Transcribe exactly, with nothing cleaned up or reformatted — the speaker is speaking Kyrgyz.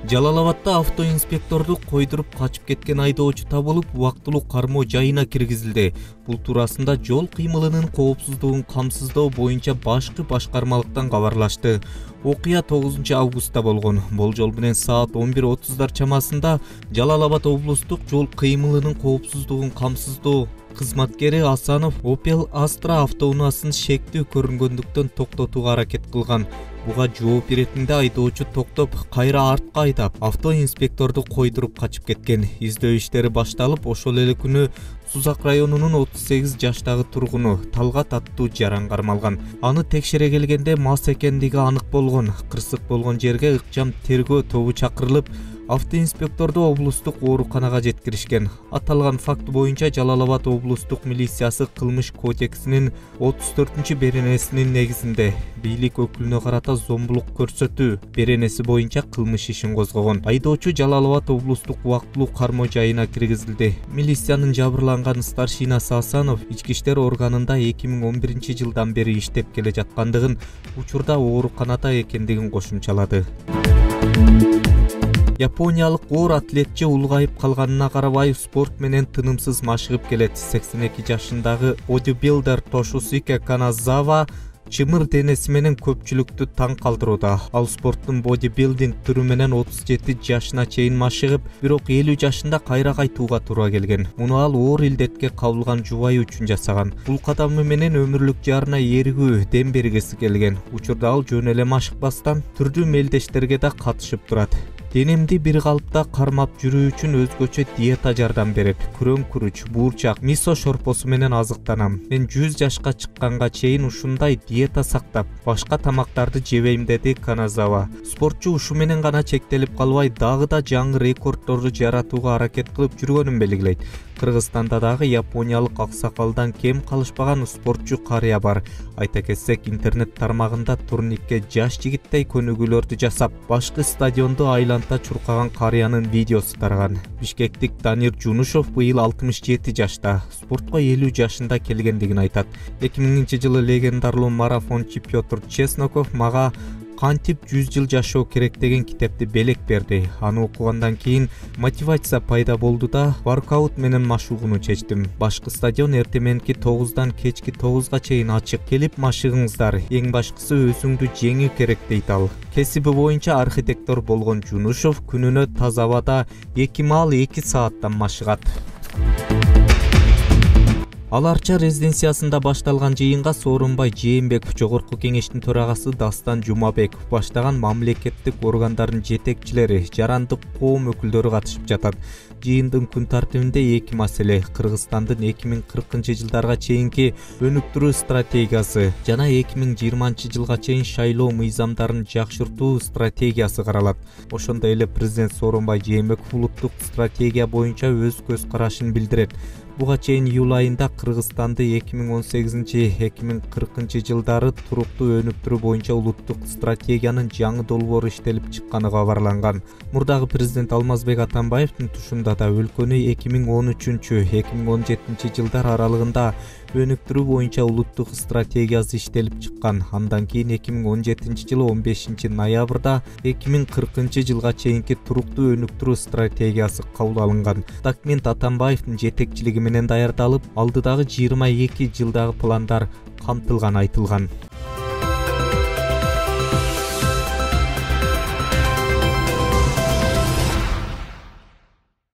Жалал Абадта автоинспекторду койдуруп качып кеткен айдоочу табылып, убактылуу кармоо жайына киргизилди. Бул туурасында жол кыймылынын коопсуздугун камсыздоо боюнча башкы башкармалыктан кабарлашты. Окуя тогузунчу августта болгон. Болжол менен саат он бир отуздар чамасында Жалал Абад облустук жол кыймылынын коопсуздугун камсыздоо кызматкери Асанов Opel Astra автоунаасын шектүү көрүнгөндүктөн токтотууга аракет кылган. Буга жооп иретинде айдоочу токтоп, кайра артка айдап, автоинспекторду койдуруп качып кеткен. Издөө иштери башталып, ошол эле күнү Сузак районунун отуз сегиз жаштагы тургуну Талгат аттуу жаран кармалган. Аны текшере келгенде мас экендиги анык болгон. Кырсык болгон жерге ыкчам тергөө тобу чакырылып, автоинспекторду облустук ооруканага жеткиришкен. Аталган факт боюнча Жалал Абад облустук милициясы кылмыш кодексинин отуз төртүнчү беренесинин негизинде бийлик өкүлүнө карата зомбулук көрсөтүү беренеси боюнча кылмыш ишин козгогон. Айдоочу Жалал Абад облустук убактылуу кармоо жайына киргизилди. Милициянын жабырланган старшинасы Асанов ички иштер органында эки миң он биринчи жылдан бери иштеп келе жаткандыгын, учурда ооруканада экендигин кошумчалады. Япониялык оор атлетчи улгайып калганына карабай спорт менен тынымсыз машыгып келет. сексен эки жашындагы бодибилдер Тошусуке Каназава чымыр денеси менен көпчүлүктү таң калтырууда. Ал спорттун бодибилдинг түрү менен отуз жети жашына чейин машыгып, бирок элүү жашында кайра кайтууга туура келген. Муну ал оор илдетке кабылган жубайы үчүн жасаган. Бул кадамы менен өмүрлүк жарына эригүү, дем бергиси келген. Учурда ал жөн эле машыкпастан түрдүү мелдештерге да катышып турат. Денемди бир калыпта кармап жүрүү үчүн өзгөчө диета жардам берип, күрөң күрүч, буурчак, мисо шорпосу менен азыктанам. Мен жүз жашка чыкканга чейин ушундай диета сактап, башка тамактарды жебейм, деди Каназава. Спортчу ушу менен гана чектелип калбай, дагы да жаңы рекордторду жаратууга аракет кылып жүргөнүн белгилейт. Кыргызстанда дагы япониялык аксакалдан кем калышпаган спортчу карыя бар. Айта кетсек, интернет тармагында турникке жаш жигиттей көнүгүүлөрдү жасап, башкы стадионду айланта чуркаган карыянын видеосу тараган. Бишкектик Данир Жунушов быйыл алтымыш жети жашта, спортко элүү жашында келгендигин айтат. эки миңинчи жылы легендарлуу марафончу Петр Чесноков мага кантип жүз жыл жашоо керек деген китепти белек берди. Аны окугандан кийин мотивация пайда болду да, воркаут менен машыгууну чечтим. Башкы стадион эртең мененки тогуздан кечки тогузга чейин ачык. Келип машыгыңыздар. Эң башкысы өзүңдү жеңүү керек, дейт ал. Кесиби боюнча архитектор болгон Жунушов күнүнө таза абада эки маал эки сааттан машыгат. Ал Арча резиденциясында башталган жыйынга Сооронбай Жээнбеков, Жогорку кеңештин төрагасы Дастан Жумабеков баштаган мамлекеттик органдардын жетекчилери, жарандык коом өкүлдөрү катышып жатат. Жыйындын күн тартибинде эки маселе: Кыргызстандын эки миң кыркынчы жылдарга чейинки өнүктүрүү стратегиясы жана эки миң жыйырманчы жылга чейин шайлоо мыйзамдарын жакшыртуу стратегиясы каралат. Ошондой эле президент Сооронбай Жээнбеков улуттук стратегия боюнча өз көз карашын билдирет. Буга чейин июль айында Кыргызстанды эки миң он сегизинчи — эки миң кыркынчы жылдары туруктуу өнүктүрүү боюнча улуттук стратегиянын жаңы долбоору иштелип чыкканы кабарланган. Мурдагы президент Алмазбек Атамбаевдин тушунда да өлкөнү эки миң он үчүнчү — эки миң он жетинчи жылдар аралыгында өнүктүрүү боюнча улуттук стратегиясы иштелип чыккан. Андан кийин эки миң он жетинчи жылы он бешинчи ноябрда эки миң кыркынчы жылга чейинки туруктуу өнүктүрүү стратегиясы кабыл алынган. Документ Атамбаевдин жетекчилиги менен даярдалып, алдыдагы жыйырма эки жылдагы пландар камтылган айтылган.